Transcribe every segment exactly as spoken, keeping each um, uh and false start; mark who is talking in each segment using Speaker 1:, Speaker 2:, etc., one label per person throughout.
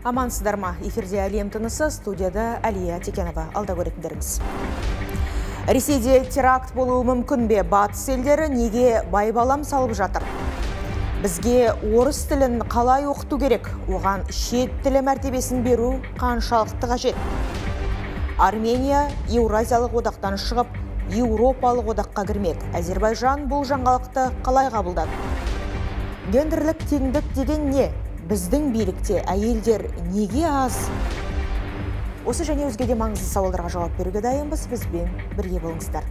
Speaker 1: Амансыздар ма? Эфирде әлем тынысы, студияда Әлия Текенова. Алда көретіндеріңіз. Ресейде теракт болуы мүмкін бе? Батыс елдері неге байбалам салып жатыр? Бізге орыс тілін қалай оқыту керек? Оған шет тілі мәртебесін беру қаншалықты қажет? Армения Еуразиялық одақтан шығып, Еуропалық одаққа кірмек. Әзербайжан бұл жаңалықты қалай қабылдады? Гендерлік теңдік деген не? Біздің билікте әйелдер неге аз? Осы және өзге де маңызды сауалдарға жауап беруге дайынбыз. Бізбен бірге болыңыздар.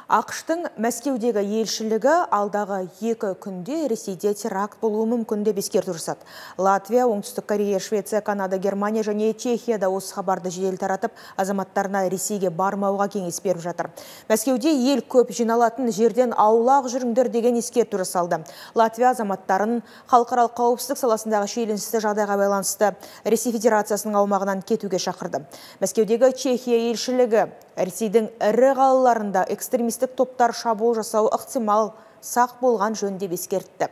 Speaker 1: ақш-тың Мәскеудегі елшілігі алдағы екі күнде Ресейде теракт болуы мүмкін деп ескерту жасады. Латвия, Оңтүстік Корея, Швеция, Канада, Германия және Чехияда осы хабарды жедел таратып, азаматтарына Ресейге бармауға кеңес беріп жатыр. Мәскеуде ел көп жиналатын жерден аулақ жүріңдер деген ескерту жасалды. Латвия азаматтарын халықаралық қауіпсіздік саласындағы шиеленісті жағдайға байланысты Ресей Федерациясының аумағынан кетуге шақырды. Мәскеудегі Чехия елшілігі Ресейдің ірі қалаларында экстремистік топтар шабуыл жасау ықтимал, сақ болған жөн деп ескертті.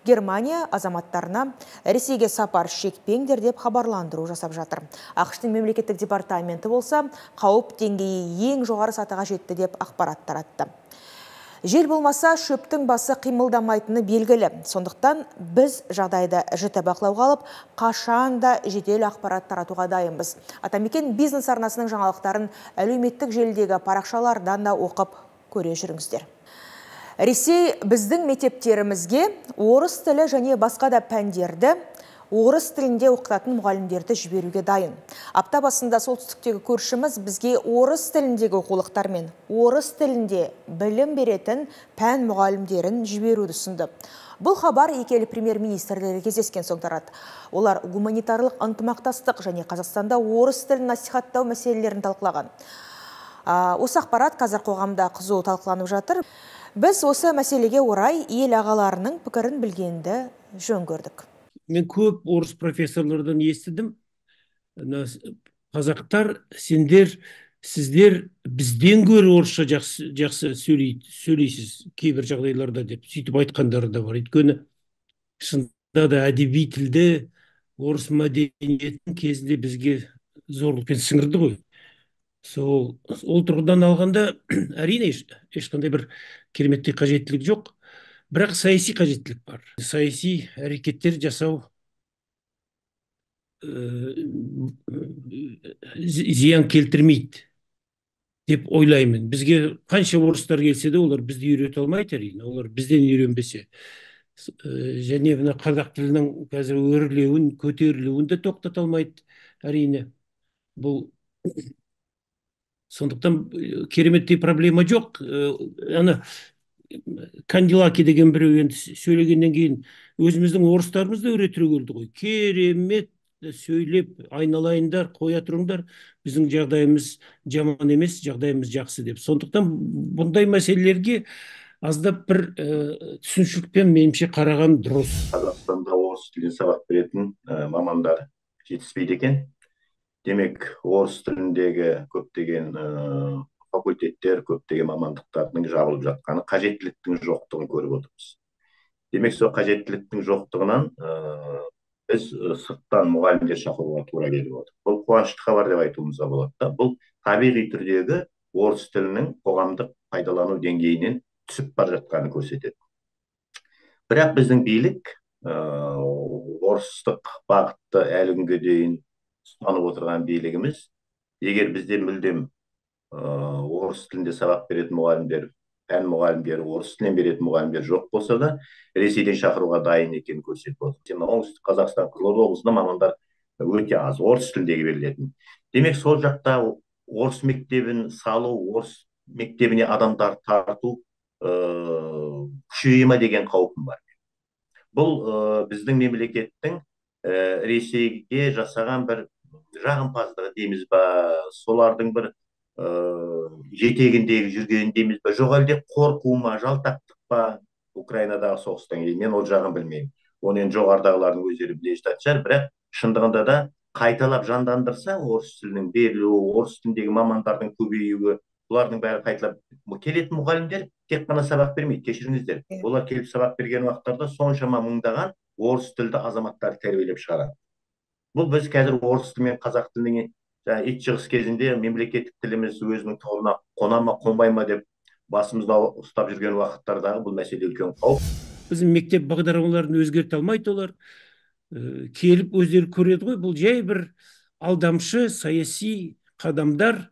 Speaker 1: Германия азаматтарына Ресейге сапар шекпеңдер деп хабарландыру жасап жатыр. ақш-тың мемлекеттік департаменті болса, қауіп деңгейі ең жоғары сатыға жетті деп ақпарат таратты. Жел болмаса, шөптің басы қимылдамайтыны белгілі. Сондықтан біз жағдайды жіті бақылауға алып, қашанда жедел ақпарат таратуға дайынбыз. Атамекен бизнес арнасының жаңалықтарын әлеуметтік желідегі парақшалардан да оқып көре жүріңіздер. Ресей біздің мектептерімізге орыс тілі және басқа да пәндерді орыс тілінде оқытатын мұғалімдерді жіберуге дайын. Апта басында солтүстіктегі көршіміз бізге орыс тіліндегі оқулықтар мен орыс тілінде білім беретін пән мұғалімдерін жіберуді ұсынды. Бұл хабар екі ел премьер-министрлері кездескен соң тарады. Олар гуманитарлық ынтымақтастық және Қазақстанда орыс тілін насихаттау мәселелерін талқылаған. Осы ақпарат қазір қоғамда қызу талқыланып жатыр. Біз осы мәселеге орай ел ағаларының пікірін білгенді жөн көрдік.
Speaker 2: Мен көп орыс профессорлардан естідім. Қазақтар, сендер, сіздер бізден гөрі орысша жақсы, жақсы сөйлейсіз кейбір жағдайларда деп сөйтіп айтқандары да бар. Өйткені шынында да әдеби тілді орыс мәдениетін кезінде бізге зорлықпен сіңірді ғой. Сол ол тұрғыдан алғанда әрине ешқандай бір кереметтей қажеттілік жоқ. Бірақ саяси қажеттілік бар. Саяси әрекеттер жасау зиян келтірмейді деп ойлаймын. Бізге қанша орыстар келсе де, олар бізді үйрете алмайды әрине. Олар бізден үйренбесе. Және мына қазақ тілінің қазір өрлеуін, көтерілуін де тоқтата алмайды әрине. Бұл сондықтан кереметтей проблема жоқ. Ана Кандилаки деген біреу енді сөйлегеннен кейін өзіміздің орыстарымыз да өре түрегелді ғой. Керемет сөйлеп, айналайындар, қоя тұрыңдар, біздің жағдайымыз жаман емес, жағдайымыз жақсы деп. Сондықтан бұндай мәселелерге аздап бір түсінушілікпен меніңше қараған дұрыс.
Speaker 3: Қазақстанда орыс тілін сабақ беретін мамандар жетіспейді екен. Демек, орыс тіліндегі көптеген факультеттер, көптеген мамандықтардың жабылып жатқаны, қажеттіліктің жоқтығын көріп отырмыз. Демек, сол қажеттіліктің жоқтығынан біз сырттан мұғалімдер шақыруға тура келіп отыр. Бұл қуанышты хабар деп айтуымызға болады. Бұл табиғи түрдегі орыс тілінің қоғамдық пайдалану деңгейінен түсіп бара жатқанын көрсетеді. Бірақ біздің билік орыстық бағытты әлі күнге дейін ұстанып отырған билігіміз, егер бізде мүлдем орыс тілінде сабақ беретін мұғалімдер, пән мұғалімдері, орыс тілін беретін мұғалімдер жоқ болса да, Ресейден шақыруға дайын екенін көрсетіп отыр. Оңтүстік Қазақстан, Қызылорда облысында мамандар өте аз, орыс тіліндегі берілетін. Демек, сол жақта орыс мектебін салу, орыс мектебіне адамдар тарту күшейе ме деген қаупім бар. Бұл біздің мемлекеттің Ресейге жасаған бір жағымпаздығы дейміз ба, солардың бір жетегіндегі жүрген дейміз ба, жоқ әлде қорқу ма, жалтақтық па, Украинадағы соғыстан кейін, мен ол жағын білмеймін. Оны енді жоғарыдағылардың өздері біле жататын шығар, бірақ шындығында да қайталап жандандырса, орыс тілінің берілуі, орыс тіліндегі мамандардың көбеюі, бұлардың бәрі қайталап келетін мұғалімдер тек қана сабақ бермейді, кешіріңіздер. Олар келіп сабақ берген уақыттарда соншама мыңдаған орыс тілді азаматтарды тәрбиелеп шығарады. Бұл біз қазір орыс тілі мен қазақ тілінің ит жығыс кезінде мемлекеттік тіліміз өзінің тұғырына қона ма, қонбай ма деп басымызда ұстап жүрген уақыттардағы бұл мәселе үлкен қауіп.
Speaker 2: Біздің мектеп бағдарламаларын өзгерте алмайды олар. Келіп өздері көреді ғой, бұл жай бір алдамшы саяси қадамдар.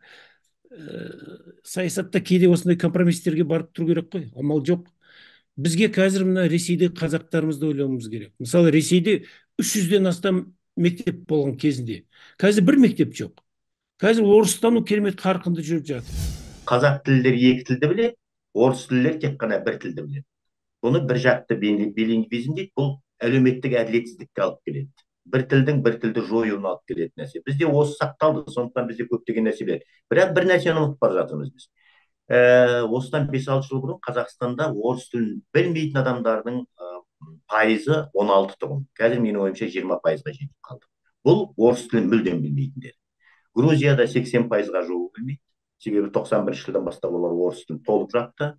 Speaker 2: Саясатта кейде осындай компромистерге барып тұру керек қой, амал жоқ. Бізге қазір мына Ресейде қазақтарымызды ойлауымыз керек. Мысалы, Ресейде үш жүзден астам мектеп болған кезінде. Қазір бір мектеп жоқ. Қазір орыстану керемет қарқынды жүріп жатыр.
Speaker 3: Қазақ тілдер екі тілді біледі, орыс тілдер тек қана бір тілді біледі. Бұны бір жақты билингвизм дейді, бұл әлеуметтік әділетсіздікке алып келеді. Бір тілдің бір тілді жоюына алып келетін нәрсе. Бізде осы сақталды, сондықтан бізде көптеген нәрселер. Бірақ бір нәрсені ұмытып бара жатырмыз біз. Осыдан бес алты жыл бұрын Қазақстанда орыс тілін білмейтін адамдардың пайызы он алты тұғын. Қазір менің ойымша жиырма пайызға жетіп қалды. Бұл орыс тілін мүлдем білмейтіндер. Грузияда сексен пайызға жуығы білмейді. Себебі тоқсан бірінші жылдан бастап олар орыс тілін толық жапты.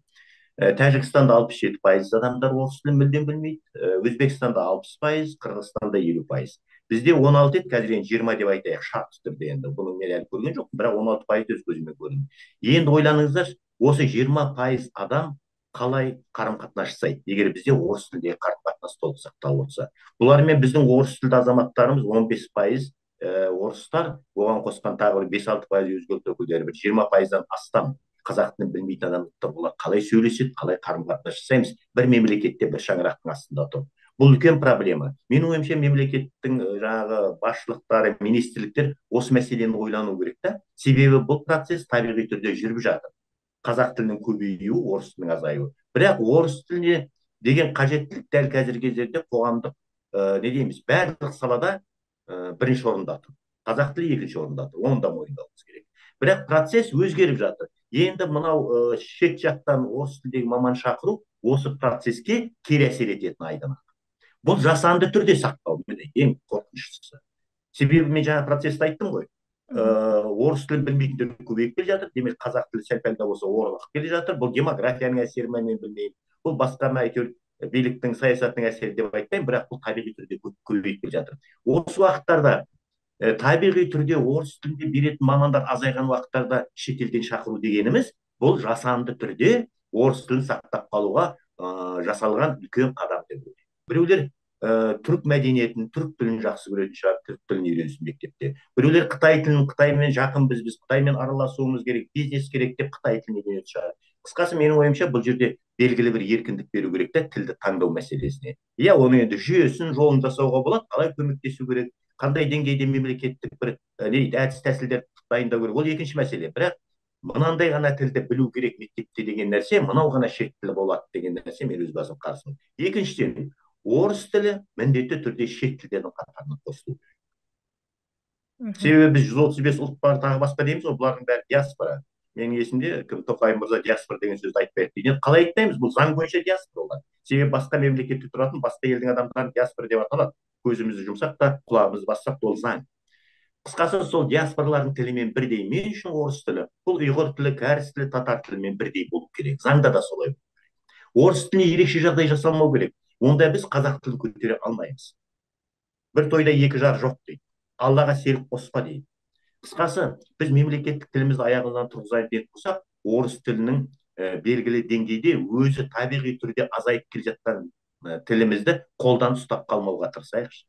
Speaker 3: Тәжікстанда алпыс жеті пайыз адамдар орыс тілін мүлдем білмейді. Өзбекстанда алпыс пайыз, Қырғызстанда елу пайыз. Бізде он алты еді, қазір енді жиырма деп айтайық, шартты түрде енді. Бұны мен әлі көрген жоқпын, бірақ он алты пайыз өз көзіме көрдім. Енді ойланыңыздар, осы жиырма пайыз адам қалай қарым-қатынас жасайды, егер бізде орыс тілдегі қарым-қатынас толық сақталып отырса. Бұлармен біздің орыс тілді азаматтарымыз он бес пайыз орыстар, оған қосқан тағы бес алты пайыз өзге ұлт өкілдері, бір жиырма пайыздан астам қазақ тілін білмейтін адамдар, олар қалай сөйлеседі, қалай қарым-қатынас жасаймыз, бір мемлекетте бір шаңырақтың астында тұр. Бұл үлкен проблема. Менің ойымша мемлекеттің жаңағы басшылықтары, министрліктер осы мәселені ойлану керек та. Себебі бұл процесс табиғи түрде жүріп жатыр. Қазақ тілінің көбеюі, орыс тілінің азаюы. Бірақ орыс тіліне деген қажеттілік дәл қазіргі кездерде қоғамдық не дейміз, барлық салада бірінші орында тұр. Қазақ тілі екінші орында тұр. Оны да мойындауымыз керек. Бірақ процесс өзгеріп жатыр. Енді мынау шет жақтан орыс тілдегі маман шақыру осы процеске кері әсер ететін айдан. Бұл жасанды түрде сақтау, ең қорқыныштысы. Себебі мен жаңа процессті айттым ғой. Орыс тілін білмейтіндер көбейіп келе жатыр. Демек қазақ тілі сәл-пәл де болса орнығып келе жатыр. Бұл демографияның әсері ме, мен білмеймін. Бұл басқа ма, әйтеуір биліктің саясатының әсері деп айтпаймын, бірақ бұл табиғи түрде көбейіп келе жатыр. Осы уақыттарда табиғи түрде орыс тілінде беретін мамандар азайған уақыттарда шетелден шақыру дегеніміз, бұл жасанды түрде орыс тілін сақтап қалуға жасалған үлкен қадам деп ойлаймын. Біреулер түрік мәдениетін, түрік тілін жақсы көретін шығар, түрік тілін үйренсін мектепте. Біреулер Қытай тілін, Қытаймен жақынбыз, біз Қытаймен араласуымыз керек, бизнес керек деп Қытай тілін үйренетін шығар. Қысқасы менің ойымша бұл жерде белгілі бір еркіндік беру керек та тілді таңдау мәселесіне. Иә, оны енді жүйесін, жолын жасауға болады, қалай көмектесу керек, қандай деңгейде мемлекеттік бір әдіс тәсілдер дайындау керек, ол екінші мәселе. Бірақ мынандай ғана тілді білу керек мектепте деген нәрсе, мынау ғана шет тілі болады деген нәрсе мен өз басым қарсымын. Екіншіден, орыс тілі міндетті түрде шет тілдердің қатарына қосылу керек. Себебі біз жүз отыз бес ұлт бар, тағы басқа дейміз, бұлардың бәрі диаспора. Менің есімде кім Тоқаев мырза диаспора деген сөзді айтпайды дейді. Қалай айтпаймыз? Бұл заң бойынша диаспора олар. Себебі басқа мемлекетте тұратын басқа елдің адамдарын диаспора деп аталады. Көзімізді жұмсақ та, құлағымызды бассақ та ол заң. Қысқасы сол диаспоралардың тілімен бірдей. Мен үшін орыс тілі, бұл ұйғыр тілі, кәріс тілі, татар тілімен бірдей болу керек. Заңда да солай болу керек. Орыс тіліне ерекше жағдай жасалмау керек. Онда біз қазақ тілін көтере алмаймыз. Бір тойда екі жар жоқ дейді. Аллаға серік қоспа дейді. Қысқасы, біз мемлекеттік тілімізді аяғынан тұрғызайық деп болсақ, орыс тілінің белгілі деңгейде өзі табиғи түрде азайып келе жатқан тілімізді қолдан ұстап қалмауға тырысайықшы.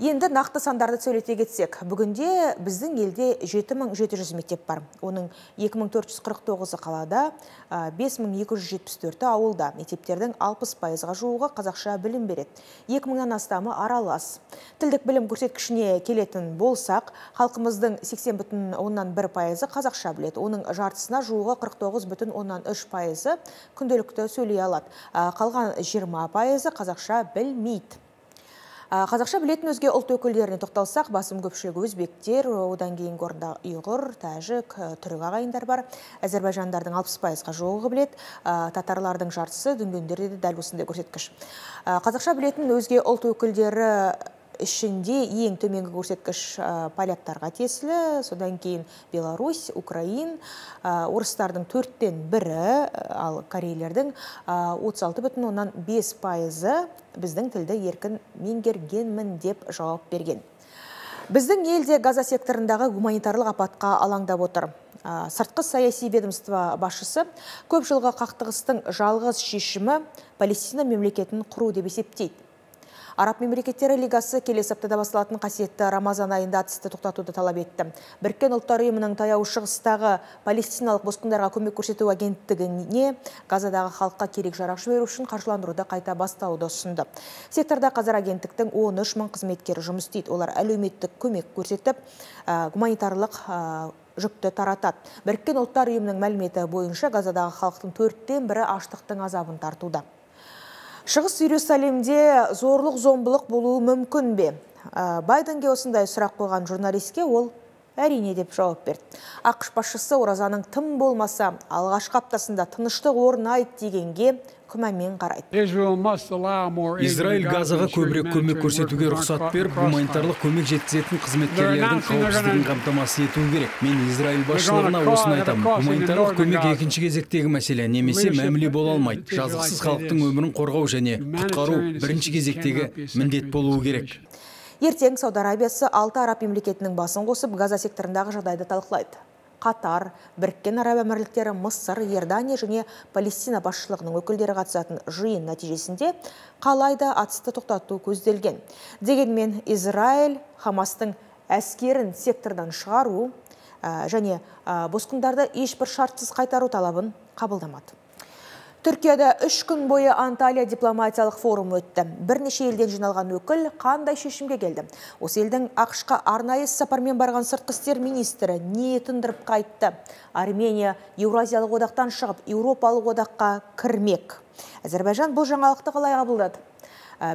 Speaker 1: Енді нақты сандарды сөйлете кетсек, бүгінде біздің елде жеті мың жеті жүз мектеп бар. Оның екі мың төрт жүз қырық тоғызы қалада, бес мың екі жүз жетпіс төрті ауылда. Мектептердің алпыс пайызға жуығы қазақша білім береді. екі мыңнан астамы аралас. Тілдік білім көрсеткішіне келетін болсақ, халқымыздың сексен бүтін оннан бір пайызы қазақша біледі. Оның жартысына жуығы қырық тоғыз бүтін оннан үш пайызы күнделікті сөйлей алады. Қалған жиырма пайызы қазақша білмейді. Қазақша білетін өзге ұлт өкілдеріне тоқталсақ, басым көпшілігі өзбектер, одан кейінгі орында ұйғыр, тәжік, түрік ағайындар бар. Әзербайжандардың алпыс пайызға жуығы біледі, татарлардың жартысы, дүнгендерде де дәл осындай көрсеткіш. Қазақша білетін өзге ұлт өкілдері ішінде ең төменгі көрсеткіш поляктарға тиесілі, содан кейін Беларусь, Украин, орыстардың төрттен бірі, ал корейлердің отыз алты бүтін оннан бес пайызы біздің тілді еркін меңгергенмін деп жауап берген. Біздің елде Газа секторындағы гуманитарлық апатқа алаңдап отыр. Сыртқы саяси ведомство басшысы көп жылғы қақтығыстың жалғыз шешімі Палестина мемлекетін құру деп есептейді. Араб мемлекеттері лигасы келесі аптада басталатын қасиетті Рамазан айында атысты тоқтатуды талап етті. Біріккен ұлттар ұйымының таяу шығыстағы палестиналық босқындарға көмек көрсету агенттігіне Газадағы халыққа керек жарақ жіберу үшін қаржыландыруды қайта бастауды ұсынды. Секторда қазір агенттіктің он үш мың қызметкері жұмыс істейді. Олар әлеуметтік көмек көрсетіп, гуманитарлық жүкті таратады. Біріккен ұлттар ұйымының мәліметі бойынша Газадағы халықтың төрттен бірі аштықтың азабын тартуда. Шығыс Иерусалимде зорлық зомбылық болуы мүмкін бе? Байденге осындай сұрақ қойған журналистке ол әрине деп жауап берді. ақш басшысы оразаның тым болмаса алғашқы аптасында тыныштық орнайды дегенге күмәнмен қарайды.
Speaker 4: Израиль Газаға көбірек көмек көрсетуге рұқсат беріп, гуманитарлық көмек жеткізетін қызметкерлердің қауіпсіздігін қамтамасыз етуі керек. Мен Израиль басшылығына осыны айтамын. Гуманитарлық көмек екінші кезектегі мәселе, немесе мәміле бола алмайды. Жазықсыз халықтың өмірін қорғау және құтқару бірінші кезектегі міндет болуы керек.
Speaker 1: Ертең Сауд Арабиясы алты араб мемлекетінің басын қосып, Газа секторындағы жағдайды талқылайды. Қатар, Біріккен Араб Әмірліктері, Мысыр, Иордания және Палестина басшылығының өкілдері қатысатын жиын нәтижесінде қалайда атысты тоқтату көзделген. Дегенмен Израиль Хамастың әскерін сектордан шығару және босқындарды ешбір шартсыз қайтару талабын қабылдамады. Түркияда үш күн бойы Анталия дипломатиялық форум өтті. Бірнеше елден жиналған өкіл қандай шешімге келді? Осы елдің ақш-қа арнайы сапармен барған сыртқы істер министрі не тындырып қайтты? Армения Еуразиялық одақтан шығып, Еуропалық одаққа кірмек. Әзербайжан бұл жаңалықты қалай қабылдады?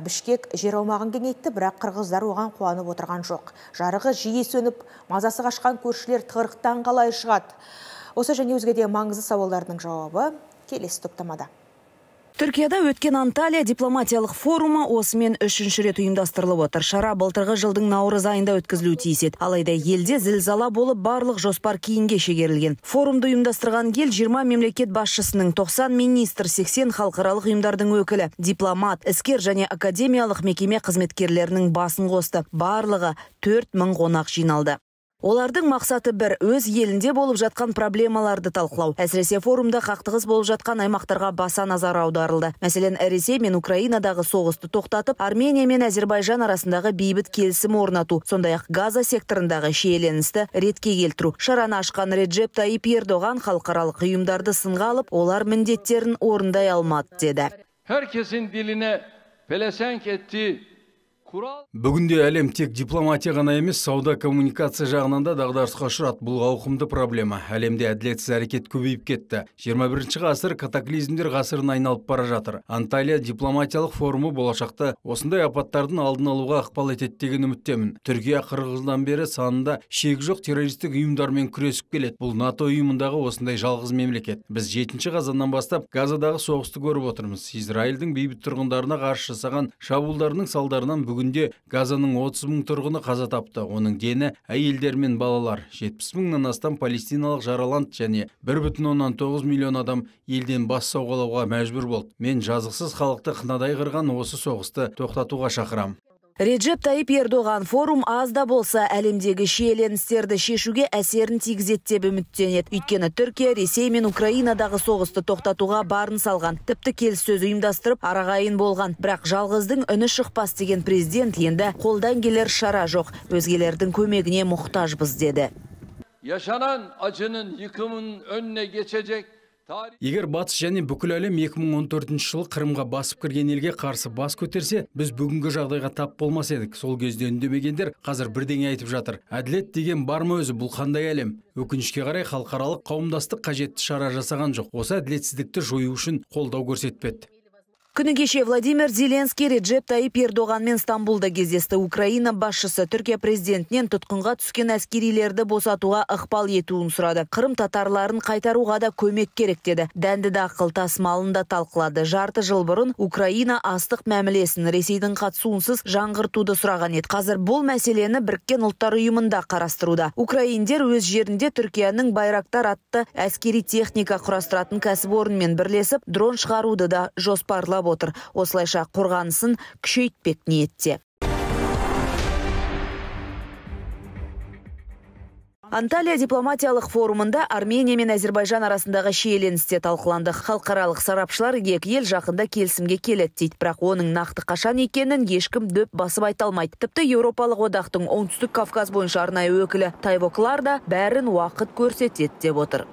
Speaker 1: Бішкек жер аумағын кеңейтті, бірақ қырғыздар оған қуанып отырған жоқ. Жарығы жиі сөніп, мазасы қашқан көршілер тығырықтан қалай шығады? Осы және өзге де маңызды сауалдардың жауабы келесі топтамада.
Speaker 5: Түркияда өткен Анталия дипломатиялық форумы осымен үшінші рет ұйымдастырылып отыр. Шара былтырғы жылдың наурыз айында өткізілуі тиіс еді. Алайда елде зілзала болып барлық жоспар кейінге шегерілген. Форумды ұйымдастырған ел жиырма мемлекет басшысының, тоқсан министр, сексен халықаралық ұйымдардың өкілі, дипломат, іскер және академиялық мекеме қызметкерлерінің басын қосты. Барлығы төрт мың қонақ жиналды. Олардың мақсаты бір, өз елінде болып жатқан проблемаларды талқылау. Әсіресе форумда қақтығыс болып жатқан аймақтарға баса назар аударылды. Мәселен, Ресей мен Украинадағы соғысты тоқтатып, Армения мен Әзербайжан арасындағы бейбіт келісім орнату, сондай-ақ Газа секторындағы шиеленісті ретке келтіру. Шараны ашқан Реджеп Тайип Ердоған халықаралық ұйымдарды сынға алып, олар міндеттерін орындай алмады деді.
Speaker 6: Herkesin diline pelesenk ettiği
Speaker 4: Бүгінде әлем тек дипломатия ғана емес, сауда коммуникация жағынан да дағдарысқа ұшырады. Бұл ауқымды проблема. Әлемде әділетсіз әрекет көбейіп кетті. жиырма бірінші ғасыр катаклизмдер ғасырын айналып бара жатыр. Анталия дипломатиялық форумы болашақта осындай апаттардың алдын алуға ықпал етеді деген үміттемін. Түркия қырық жылдан бері санында шегі жоқ террористік ұйымдармен күресіп келеді. Бұл НАТО ұйымындағы осындай жалғыз мемлекет. Біз жетінші қазаннан бастап Газадағы соғысты көріп отырмыз. Израильдің бейбіт тұрғындарына қарсы жасаған шабуылдарының салдарынан бүгінде Газаның отыз мың тұрғыны қаза тапты. Оның дені әйелдер мен балалар. жетпіс мыңнан астам палестиналық жараланды және бір бүтін оннан тоғыз миллион адам елден бас сауғалауға мәжбүр болды. Мен жазықсыз халықты қынадай қырған осы соғысты тоқтатуға шақырам.
Speaker 5: Реджеп Тайип Ердоған форум аз да болса әлемдегі шиеленістерді шешуге әсерін тигізеді деп үміттенеді. Өйткені Түркия, Ресей мен Украинадағы соғысты тоқтатуға барын салған. Тіпті келіссөз ұйымдастырып арағайын болған. Бірақ жалғыздың үні шықпас деген президент енді қолдан келер шара жоқ. Өзгелердің көмегіне мұқтажбыз деді.
Speaker 6: Yaşanan acının yıkımın önüne geçecek.
Speaker 4: Егер батыс және бүкіл әлем екі мың он төртінші жылы Қырымға басып кірген елге қарсы бас көтерсе, біз бүгінгі жағдайға тап болмас едік. Сол кезде үндемегендер қазір бірдеңе айтып жатыр. Әділет деген бар ма өзі, бұл қандай әлем? Өкінішке қарай халықаралық қауымдастық қажетті шара жасаған жоқ. Осы әділетсіздікті жою үшін қолдау көрсетпеді.
Speaker 5: Күні кеше Владимир Зеленский Реджеп Тайип Эрдоғанмен Стамбулда кездесті. Украина басшысы Түркия президентінен тұтқынға түскен әскерилерді босатуға ықпал етуін сұрады. Қырым татарларын қайтаруға да көмек керек деді. Дәнді дақыл тасымалын да талқылады. Жарты жыл бұрын Украина астық мәмілесін Ресейдің қатысуынсыз жаңғыртуды сұраған еді. Қазір бұл мәселені Біріккен ұлттар ұйымында қарастыруда. Украиндер өз жерінде Түркияның Байрактар атты әскери техника құрастыратын кәсіпорынмен бірлесіп дрон шығаруды да жоспарлап отыр. Осылайша қорғанысын күшейтпек ниетте. Анталия дипломатиялық форумында Армения мен Әзербайжан арасындағы шиеленісте талқыланды. Халықаралық сарапшылар екі ел жақында келісімге келеді дейді, бірақ оның нақты қашан екенін ешкім дөп басып айта алмайды. Тіпті Еуропалық одақтың оңтүстік Кавказ бойынша арнайы өкілі Тайво Клар да бәрін уақыт көрсетеді деп отыр.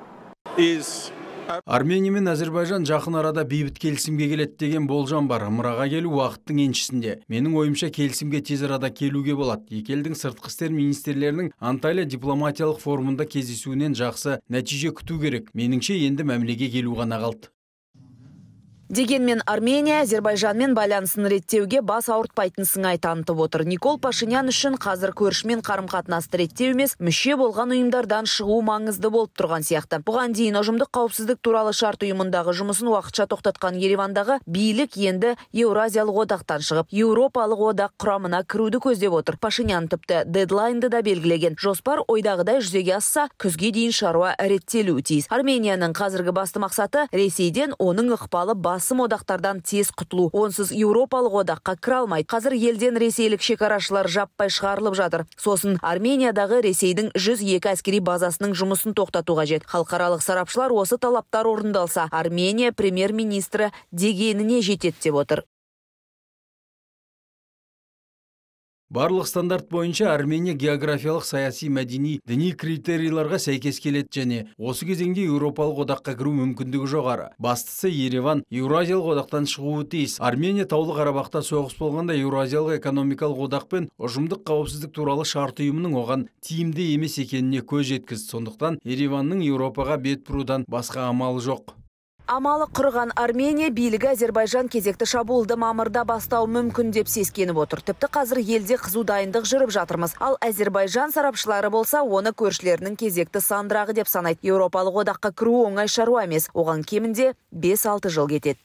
Speaker 4: Армения мен Әзербайжан жақын арада бейбіт келісімге келеді деген болжам бар. Ымыраға келу уақыттың еншісінде. Менің ойымша келісімге тез арада келуге болады. Екі елдің сыртқы істер министрлерінің Анталия дипломатиялық форумында кездесуінен жақсы нәтиже күту керек. Меніңше енді мәмілеге келу ғана қалды.
Speaker 5: Дегенмен Армения Әзербайжанмен байланысын реттеуге бас ауыртпайтын сыңай танытып отыр. Никол Пашинян үшін қазір көршімен қарым-қатынасты реттеу емес, мүше болған ұйымдардан шығу маңызды болып тұрған сияқты. Бұған дейін ұжымдық қауіпсіздік туралы шарт ұйымындағы жұмысын уақытша тоқтатқан Еревандағы билік енді Еуразиялық одақтан шығып, Еуропалық одақ құрамына кіруді көздеп отыр. Пашинян тіпті дедлайнды да белгілеген. Жоспар ойдағыдай жүзеге асса, күзге дейін шаруа реттелуі тиіс. Арменияның қазіргі басты мақсаты Ресейден оның ықпалы бас басым одақтардан тез құтылу. Онсыз Еуропалық одаққа кіре алмайды. Қазір елден ресейлік шекарашылар жаппай шығарылып жатыр. Сосын Армениядағы Ресейдің жүз екі әскери базасының жұмысын тоқтату қажет. Халықаралық сарапшылар осы талаптар орындалса, Армения премьер-министрі дегеніне жетеді деп отыр.
Speaker 4: Барлық стандарт бойынша Армения географиялық, саяси, мәдени, діни критерийларға сәйкес келеді және осы кезеңде Еуропалық одаққа кіру мүмкіндігі жоғары. Бастысы Ереван Еуразиялық одақтан шығуы тиіс. Армения Таулы Қарабақта соғыс болғанда Еуразиялық экономикалық одақ пен ұжымдық қауіпсіздік туралы шарт ұйымының оған тиімді емес екеніне көз жеткізді. Сондықтан Ереванның Еуропаға бет бұрудан басқа амалы жоқ.
Speaker 5: Амалы құрған Армения билігі Әзербайжан кезекті шабуылды мамырда бастау мүмкін деп сескеніп отыр. Тіпті қазір елде қызу дайындық жүріп жатырмыз. Ал Әзербайжан сарапшылары болса, оны көршілерінің кезекті сандырағы деп санайды. Еуропалық одаққа кіру оңай шаруа емес. Оған кемінде бес алты жыл кетеді.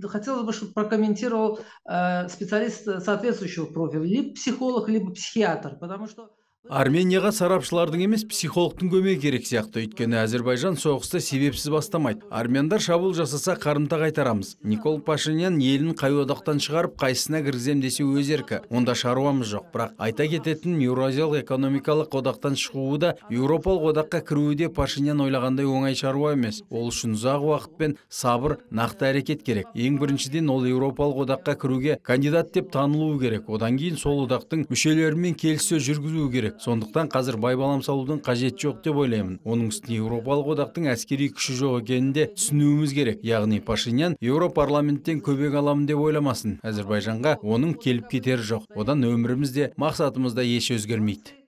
Speaker 7: Хотелось бы, чтобы прокомментировал э, специалист соответствующего профиля, либо психолог, либо психиатр, потому что
Speaker 4: Арменияға сарапшылардың емес, психологтың көмегі керек сияқты. Өйткені Әзербайжан соғысты себепсіз бастамайды. Армяндар шабуыл жасаса қарымта қайтарамыз. Никол Пашинян елін қай одақтан шығарып, қайсысына кіргізем десе өз еркі. Онда шаруамыз жоқ. Бірақ айта кететін Еуразиялық экономикалық одақтан шығуы да, Еуропалық одаққа кіруі де Пашинян ойлағандай оңай шаруа емес. Ол үшін ұзақ уақыт пен сабыр, нақты әрекет керек. Ең біріншіден ол Еуропалық одаққа кіруге кандидат деп танылуы керек. Одан кейін сол одақтың мүшелерімен келіссөз жүргізуі керек. Сондықтан қазір байбалам салудың қажет жоқ деп ойлаймын. Оның үстіне Еуропалық одақтың әскери күші жоқ екенін де түсінуіміз керек. Яғни Пашинян Еуропарламенттен көмек аламын деп ойламасын. Әзербайжанға оның келіп кетері жоқ. Одан өмірімізде, мақсатымызда еш өзгермейді.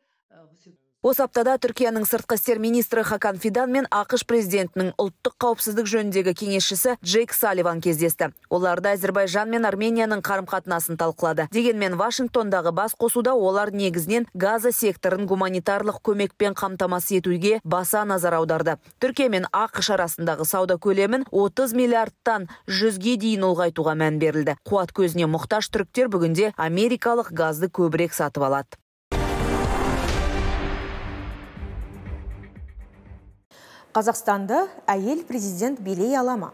Speaker 5: Осы аптада Түркияның сыртқы істер министрі Хакан Фидан мен ақш президентінің ұлттық қауіпсіздік жөніндегі кеңесшісі Джейк Салливан кездесті. Оларда Әзербайжан мен Арменияның қарым-қатынасын талқылады. Дегенмен Вашингтондағы бас қосуда олар негізінен Газа секторын гуманитарлық көмекпен қамтамасыз етуге баса назар аударды. Түркия мен ақш арасындағы сауда көлемін отыз миллиардтан жүзге дейін ұлғайтуға мән берілді. Қуат көзіне мұқтаж түріктер бүгінде америкалық газды көбірек сатып алады.
Speaker 1: Қазақстанды әйел президент билей алама.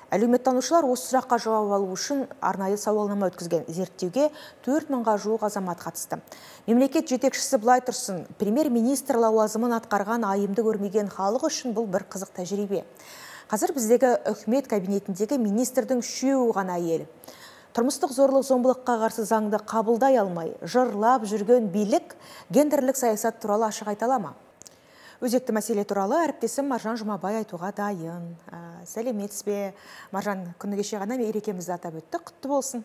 Speaker 1: Әлеуметтанушылар осы сұраққа жауап алу үшін арнайы сауалнама өткізген. Зерттеуге төрт мыңға жуық азамат қатысты. Мемлекет жетекшісі былай тұрсын, премьер-министр лауазымын атқарған айымды көрмеген халық үшін бұл бір қызық тәжірибе. Қазір біздегі үкімет кабинетіндегі министрдің үшеуі ғана әйел. Тұрмыстық зорлық зомбылыққа қарсы заңды қабылдай алмай, жырлап жүрген билік гендерлік саясат туралы ашық айта ала ма? Өзекті мәселе туралы әріптесім Маржан Жұмабай айтуға дайын. Сәлеметсіз бе? Маржан, күні кеше ғана мерекемізді атап өтті. Құтты болсын.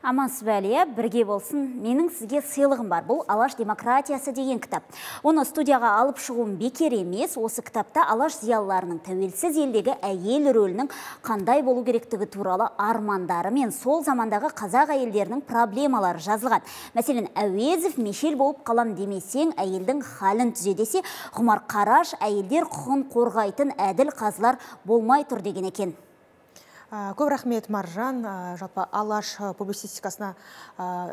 Speaker 8: Амансыз ба, Әлия, бірге болсын. Менің сізге сыйлығым бар. Бұл Алаш демократиясы деген кітап. Оны студияға алып шығуым бекер емес. Осы кітапта Алаш зиялыларының тәуелсіз елдегі әйел рөлінің қандай болу керектігі туралы армандары мен сол замандағы қазақ әйелдерінің проблемалары жазылған. Мәселен, Әуезов Мешел болып қалам демесең, әйелдің халін түзе десе, Ғұмар Қараш әйелдер құқын қорғайтын әділ қазылар болмай тұр деген екен.
Speaker 1: Көп рахмет, Маржан. Жалпы Алаш публицистикасына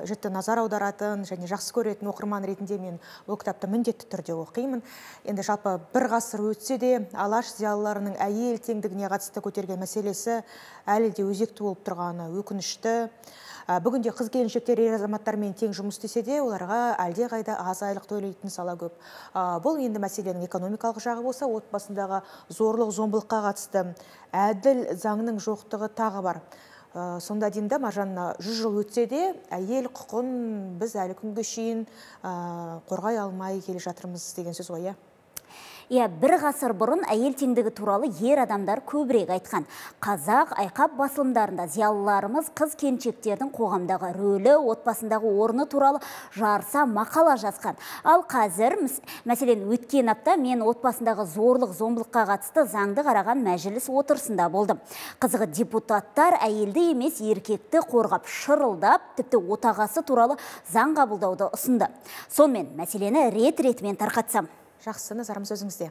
Speaker 1: жіті назар аударатын және жақсы көретін оқырман ретінде мен ол кітапты міндетті түрде оқимын. Енді жалпы бір ғасыр өтсе де Алаш зиялыларының әйел теңдігіне қатысты көтерген мәселесі әлі де өзекті болып тұрғаны өкінішті. Бүгінде қыз келіншектер ер азаматтармен тең жұмыс істесе де, оларға әлде қайда аз айлық төлейтін сала көп. Бұл енді мәселенің экономикалық жағы болса, отбасындағы зорлық зомбылыққа қатысты әділ заңның жоқтығы тағы бар. Сонда деймді, Маржан, жүз жыл өтсе де, әйел құқын біз әлі күнге шейін қорғай алмай келе жатырмыз деген сөз ғой.
Speaker 8: Иә, бір ғасыр бұрын әйел теңдігі туралы ер адамдар көбірек айтқан. Қазақ айқап басылымдарында зиялыларымыз қыз келіншектердің қоғамдағы рөлі, отбасындағы орны туралы жарыса мақала жазған. Ал қазір, мәселен, өткен апта мен отбасындағы зорлық зомбылыққа қатысты заңды қараған мәжіліс отырысында болдым. Қызығы, депутаттар әйелді емес еркекті қорғап шырылдап, тіпті отағасы туралы заң қабылдауды ұсынды. Сонымен мәселені рет-ретімен тарқатсам.
Speaker 1: Жақсы, назарымыз өзіңізде.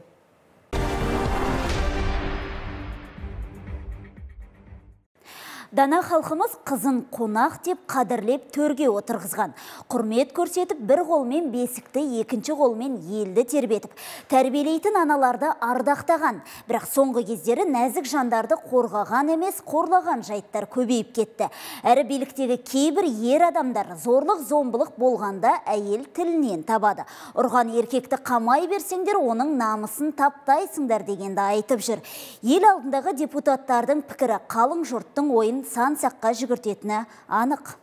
Speaker 8: Дана халқымыз қызын қонақ деп қадірлеп төрге отырғызған. Құрмет көрсетіп, бір қолмен бесікті, екінші қолмен елді тербетіп, тәрбиелейтін аналарды ардақтаған. Бірақ соңғы кездері нәзік жандарды қорғаған емес, қорлаған жайттар көбейіп кетті. Әрі биліктегі кейбір ер адамдар зорлық зомбылық болғанда әйел тілінен табады. Ұрған еркекті қамай берсеңдер, оның намысын таптайсыңдар дегенді айтып жүр. Ел алдындағы депутаттардың пікірі қалың жұрттың ойын сан-саққа жүгіртетіні анық.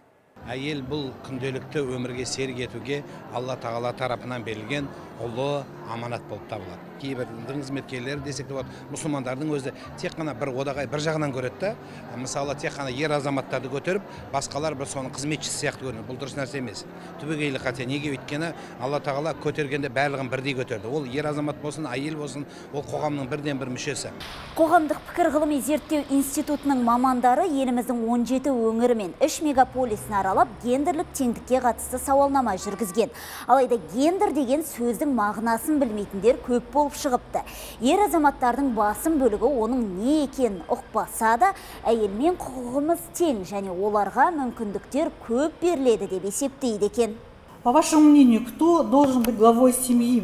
Speaker 9: Әйел бұл күнделікті өмірге серік етуге Алла тағала тарапынан берілген ұлы аманат болып табылады. Кейбір дін қызметкерлері десек те болады, мұсылмандардың өзі тек қана бір одағай бір жағынан көреді. Мысалы, тек қана ер азаматтарды көтеріп, басқалар бір соның қызметшісі сияқты көрінеді. Бұл дұрыс нәрсе емес. Түбегейлі қате. Неге? Өйткені Алла тағала көтергенде барлығын бірдей көтерді. Ол ер азамат болсын, әйел болсын, ол қоғамның бірден бір мүшесі.
Speaker 8: Қоғамдық пікір ғылыми зерттеу институтының мамандары еліміздің он жеті өңірі мен үш мегаполисін аралап, гендерлік теңдікке қатысты сауалнама жүргізген. Алайда гендер деген сөздің мағынасын білмейтіндер көп болып шығыпты. Ер азаматтардың басым бөлігі оның не екенін ұқпаса да, әйелмен құқығымыз тең және оларға мүмкіндіктер көп беріледі деп есептейді екен.
Speaker 10: По вашему мнению, кто должен быть главой семьи?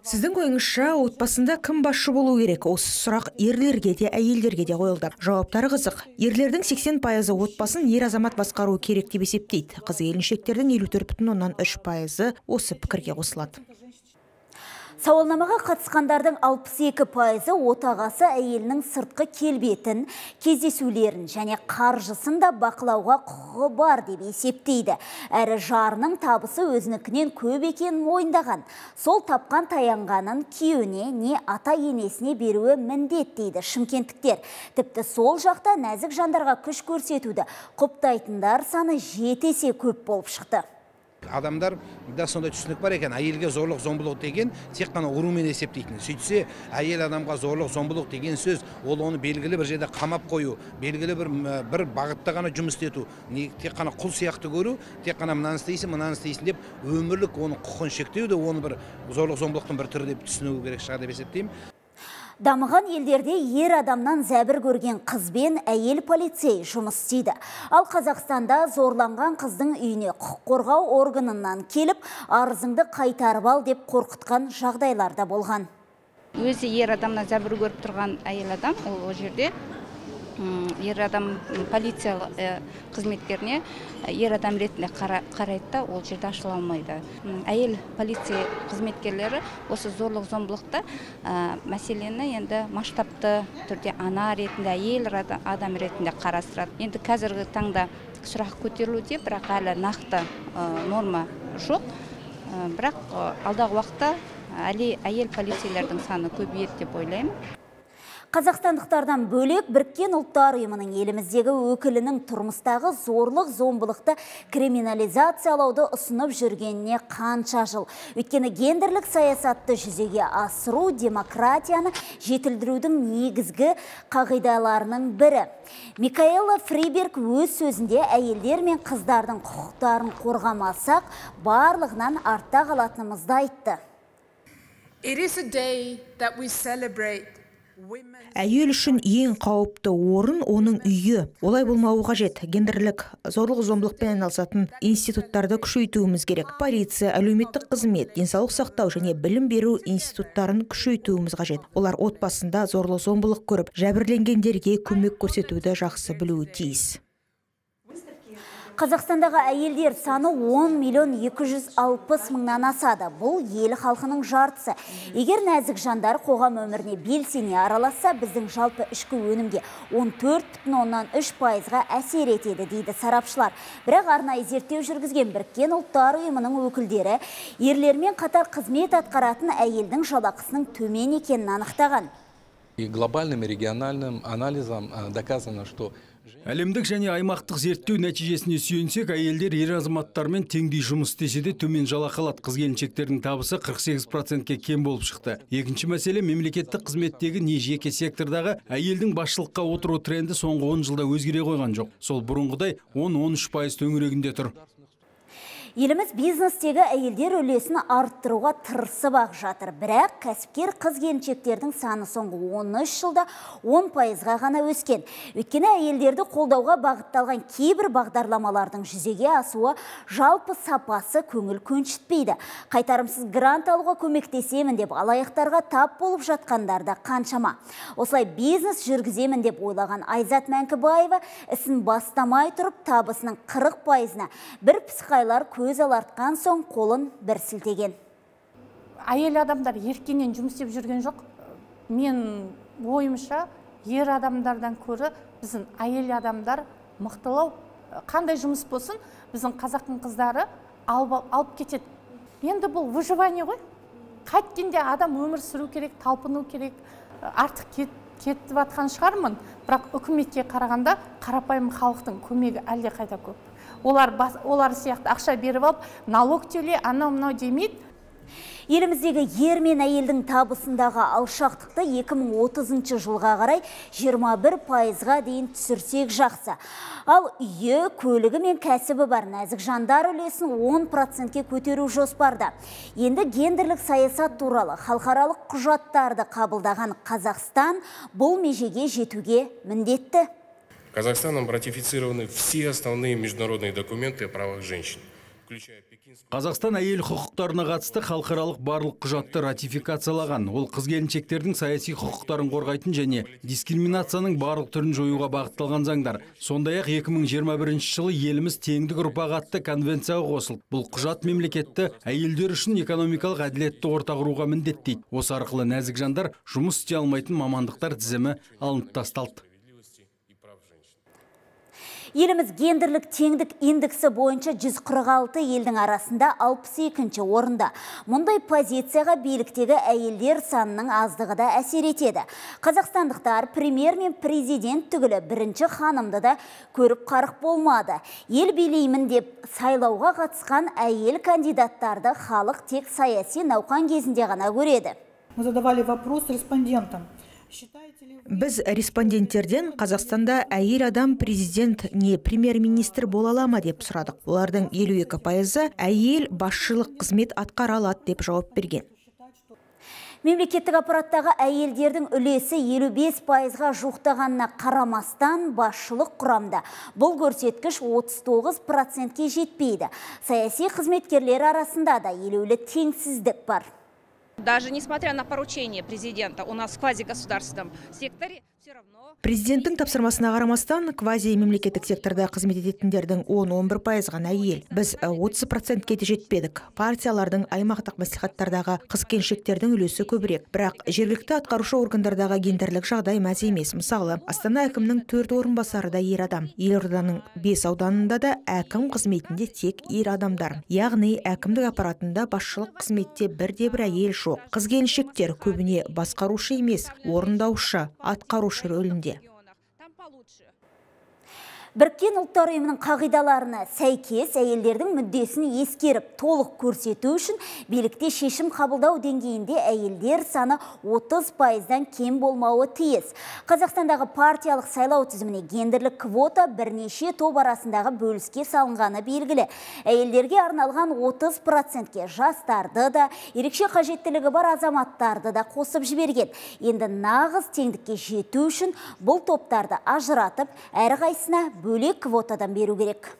Speaker 1: Сіздің ойыңызша, отбасында кім басшы болу керек? Осы сұрақ ерлерге де, әйелдерге де қойылды. Жауаптары қызық. Ерлердің сексен пайызы отбасын ер азамат басқару керек деп есептейді. Қыз келіншектердің елу төрт бүтін оннан үш пайызы осы пікірге қосылады.
Speaker 8: Сауалнамаға қатысқандардың алпыс екі пайызы отағасы әйелінің сыртқы келбетін, кездесулерін және қаржысын да бақылауға құқығы бар деп есептейді. Әрі жарының табысы өзінікінен көп екенін мойындаған. Сол тапқан таянғанын күйеуіне не ата енесіне беруі міндет дейді шымкенттіктер. Тіпті сол жақта нәзік жандарға күш көрсетуді құптайтындар саны жеті есе көп болып шықты.
Speaker 9: Адамдар да сондай түсінік бар екен, әйелге зорлық зомбылық деген тек қана ұрумен есептейтін. Сөйтсе, әйел адамға зорлық зомбылық деген сөз, ол оны белгілі бір жерде қамап қою, белгілі бір бір бағытта ғана жұмыс ету, тек қана құл сияқты көру, тек қана мынаны істейсің, мынаны істейсің деп өмірлік оның құқын шектеуді, оны бір зорлық зомбылықтың бір түрі деп түсіну керек шығар деп есептеймін.
Speaker 8: Дамыған елдерде ер адамнан зәбір көрген қызбен әйел полицей жұмыс істейді. Ал Қазақстанда зорланған қыздың үйіне құқық қорғау органынан келіп, арызыңды қайтарып ал деп қорқытқан жағдайларда болған.
Speaker 11: Өзі ер адамнан зәбір көріп тұрған әйел адам, ол жерде ер адам полиция қызметкеріне ер адам ретінде қарайды да, ол жерде ашыла алмайды. Әйел полиция қызметкерлері осы зорлық зомбылықта мәселені енді масштабты түрде ана ретінде, әйел адам ретінде қарастырады. Енді қазіргі таңда сұрақ көтерілуде, бірақ әлі нақты норма жоқ. Бірақ алдағы уақытта әйел полицейлердің саны көбейеді деп ойлаймын.
Speaker 8: Қазақстандықтардан бөлек Біріккен ұлттар ұйымының еліміздегі өкілінің тұрмыстағы зорлық зомбылықты криминализациялауды ұсынып жүргеніне қанша жыл. Өйткені гендерлік саясатты жүзеге асыру демократияны жетілдірудің негізгі қағидаларының бірі. Микаэла Фриберг өз сөзінде әйелдер мен қыздардың құқықтарын қорғамасақ, барлығынан артта қалатынымызды айтты.
Speaker 12: It is a day that we celebrate.
Speaker 1: Әйел үшін ең қауіпті орын оның үйі. Олай болмауы қажет. Гендерлік зорлық зомбылықпен айналысатын институттарды күшейтуіміз керек. Полиция, әлеуметтік қызмет, денсаулық сақтау және білім беру институттарын күшейтуіміз қажет. Олар отбасында зорлық зомбылық көріп, жәбірленгендерге көмек көрсетуді жақсы білуі тиіс.
Speaker 8: Қазақстандағы әйелдер саны он миллион екі жүз алпыс мыңнан асады. Бұл ел халқының жартысы. Егер нәзік жандар қоғам өміріне белсене араласса, біздің жалпы ішкі өнімге он төрт бүтін оннан үш пайызға әсер етеді, дейді сарапшылар. Бірақ арнайы зерттеу жүргізген Біріккен ұлттар ұйымының өкілдері ерлермен қатар қызмет атқаратын әйелдің жалақысының төмен екенін анықтаған.
Speaker 13: И глобальным и региональным анализом доказано, что
Speaker 4: Әлемдік және аймақтық зерттеу нәтижесіне сүйенсек, әйелдер ер азаматтармен теңдей жұмыс істесе де төмен жалақы алады. Қыз-келіншектердің табысы қырық сегіз процентке кем болып шықты. Екінші мәселе, мемлекеттік қызметтегі не жеке сектордағы әйелдің басшылыққа отыру тренді соңғы он жылда өзгере қойған жоқ. Сол бұрынғыдай он он үш пайыз төңірегінде тұр.
Speaker 8: Еліміз бизнестегі әйелдер үлесін арттыруға тырысып ақ жатыр. Бірақ кәсіпкер қыз-келіншектердің саны соңғы он үш жылда он пайызға ғана өскен. Өйткені әйелдерді қолдауға бағытталған кейбір бағдарламалардың жүзеге асуы жалпы сапасы көңіл көншітпейді. Қайтарымсыз грант алуға көмектесемін деп алаяқтарға тап болып жатқандар да қаншама. Осылай бизнес жүргіземін деп ойлаған Айзат Мәңкібаева ісін бастамай тұрып табысының қырық пайызына бір пысқайлар көз алартқан соң қолын бір сілтеген.
Speaker 10: Әйел адамдар еркенен жұмыс істеп жүрген жоқ. Мен ойымша ер адамдардан көрі біздің әйел адамдар мықтылау. Қандай жұмыс болсын, біздің қазақтың қыздары алып, алып кетеді. Енді бұл выживание ғой. Қайткенде адам өмір сүру керек, талпыну керек. Артық кет, кетіп атқан шығармын. Бірақ үкіметке қарағанда қарапайым халықтың көмегі әлде қайда көп. Олар, бас, олар сияқты ақша беріп алып, налог төле, анау мынау демейді.
Speaker 8: Еліміздегі ер мен әйелдің табысындағы алшақтықты екі мың отызыншы жылға қарай жиырма бір пайызға дейін түсірсек жақсы. Ал үйі, көлігі мен кәсібі бар нәзік жандар үлесін он процентке көтеру жоспарда. Енді гендерлік саясат туралы халықаралық құжаттарды қабылдаған Қазақстан бұл межеге жетуге міндетті.
Speaker 14: Казахстаном ратифицированы все основные международные документы о правах женщин, включая Пекинский.
Speaker 4: Қазақстан әйел құқықтарына қатысты халықаралық барлық құжатты ратификациялаған. Ол қыз-келіншектердің саяси құқықтарын қорғайтын және дискриминацияның барлық түрін жоюға бағытталған заңдар. Сондай-ақ екі мың жиырма бірінші жылы еліміз теңдік ұрпақ атты конвенцияға қосылды. Бұл құжат мемлекетті әйелдер үшін экономикалық әділетті орта құруға міндеттейді. Осы арқылы нәзік жандар жұмыс істей алмайтын мамандықтар тізімі алынып тасталды.
Speaker 8: Еліміз гендерлік теңдік индексі бойынша жүз қырық алты елдің арасында алпыс екінші орында. Мұндай позицияға биліктегі әйелдер санының аздығы да әсер етеді. Қазақстандықтар премьер мен президент түгілі бірінші ханымды да көріп қарық болмады. Ел билеймін деп сайлауға қатысқан әйел кандидаттарды халық тек саяси науқан кезінде ғана көреді.
Speaker 10: Мы задавали вопрос респондентам.
Speaker 1: Біз респонденттерден Қазақстанда әйел адам президент не премьер-министр бола ала ма деп сұрадық. Олардың елу екі пайызы әйел басшылық қызмет атқара алады деп жауап берген.
Speaker 8: Мемлекеттік аппараттағы әйелдердің үлесі елу бес пайызға жуықтағанына қарамастан басшылық құрамда. Бұл көрсеткіш отыз тоғыз процентке жетпейді. Саяси қызметкерлер арасында да елеулі теңсіздік бар.
Speaker 15: Даже несмотря на поручение президента, у нас в квазигосударственном секторе...
Speaker 1: Президенттің тапсырмасына қарамастан, квази мемлекеттік секторда қызмет ететіндердің он-он бір пайыз ғана әйел. Біз отыз процентке де жетпедік. Партиялардың аймақтық мәслихаттардағы қыз-келіншектердің үлесі көбірек. Бірақ жергілікті атқарушы органдардағы гендерлік жағдай мәз емес. Мысалы, Астана әкімнің төрт орынбасары да ер адам. Елорданың бес ауданында да әкім қызметінде тек ер адамдар. Яғни әкімдік аппаратында басшылық қызметте бірде-бір әйел жоқ. Қыз-келіншектер көбіне басқарушы емес, орындаушы, атқарушы рөлінде.
Speaker 8: Біріккен ұлттар ұйымының қағидаларына сәйкес әйелдердің мүддесін ескеріп, толық көрсету үшін билікте шешім қабылдау деңгейінде әйелдер саны отыз пайыздан кем болмауы тиіс. Қазақстандағы партиялық сайлау тізіміне гендерлік квота бірнеше топ арасындағы бөліске салынғаны белгілі. Әйелдерге арналған отыз процентке жастарды да, ерекше қажеттілігі бар азаматтарды да қосып жіберген. Енді нағыз теңдікке жету үшін бұл топтарды ажыратып, әрі қайсына бөлек квотадан беру керек.